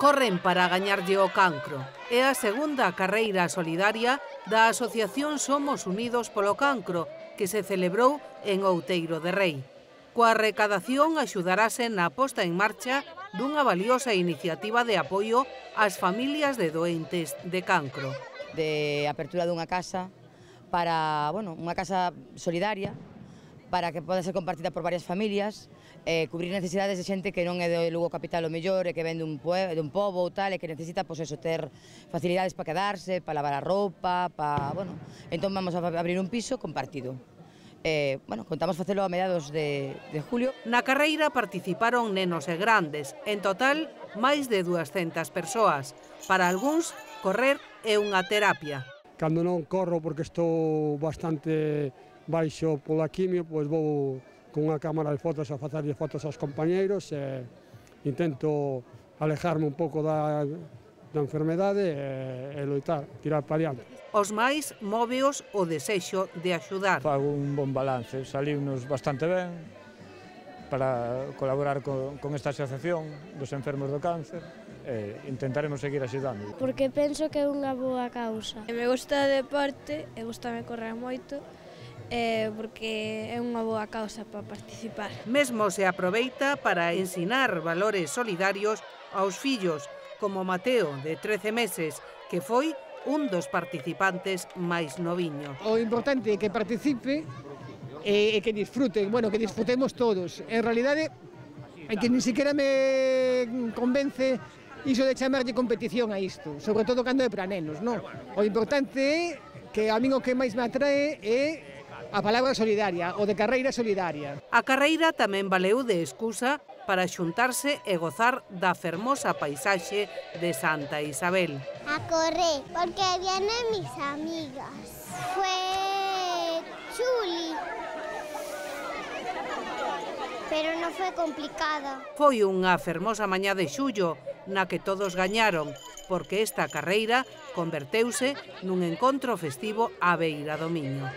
Corren para gañarlle o cancro. É a segunda carreira solidaria da Asociación Somos Unidos polo Cancro, que se celebrou en Outeiro de Rei. Coa recadación axudarase na posta en marcha dunha valiosa iniciativa de apoio ás familias de doentes de cancro. De apertura dunha casa para, unha casa solidaria para que poda ser compartida por varias familias, cubrir necesidades de xente que non é de Lugo capital o mellor e que ven dun pobo ou tal e que necesita ter facilidades para quedarse, para lavar a roupa, entón vamos a abrir un piso compartido. Contamos facelo a mediados de julio. Na carreira participaron nenos e grandes, en total máis de 200 persoas. Para algúns, correr é unha terapia. Cando non corro porque estou bastante baixo pola quimio, pois vou con unha cámara de fotos a facerlle fotos aos compañeiros e intento alejarme un pouco da enfermedade e loitar, tirar para diante. Os máis móveos o desexo de axudar. Fago un bon balance, salimos bastante ben para colaborar con esta asociación dos enfermos do cáncer e intentaremos seguir axudando. Porque penso que é unha boa causa. Me gusta o deporte e gustame correr moito, porque é unha boa causa para participar. Mesmo se aproveita para ensinar valores solidarios aos fillos, como Mateo, de 13 meses, que foi un dos participantes máis noviños. O importante é que participe e que disfruten, que disfrutemos todos. En realidade, é que ni siquiera me convence iso de chamarlle competición a isto, sobre todo cando é para nenos, non? O importante é que a min o que máis me atrae é a palabra solidaria, o de carreira solidaria. A carreira tamén valeu de excusa para xuntarse e gozar da fermosa paisaxe de Santa Isabel. A correr, porque vienen mis amigas. Fue chuli, pero non foi complicada. Foi unha fermosa mañá de xullo na que todos gañaron, porque esta carreira converteuse nun encontro festivo á beira do Miño.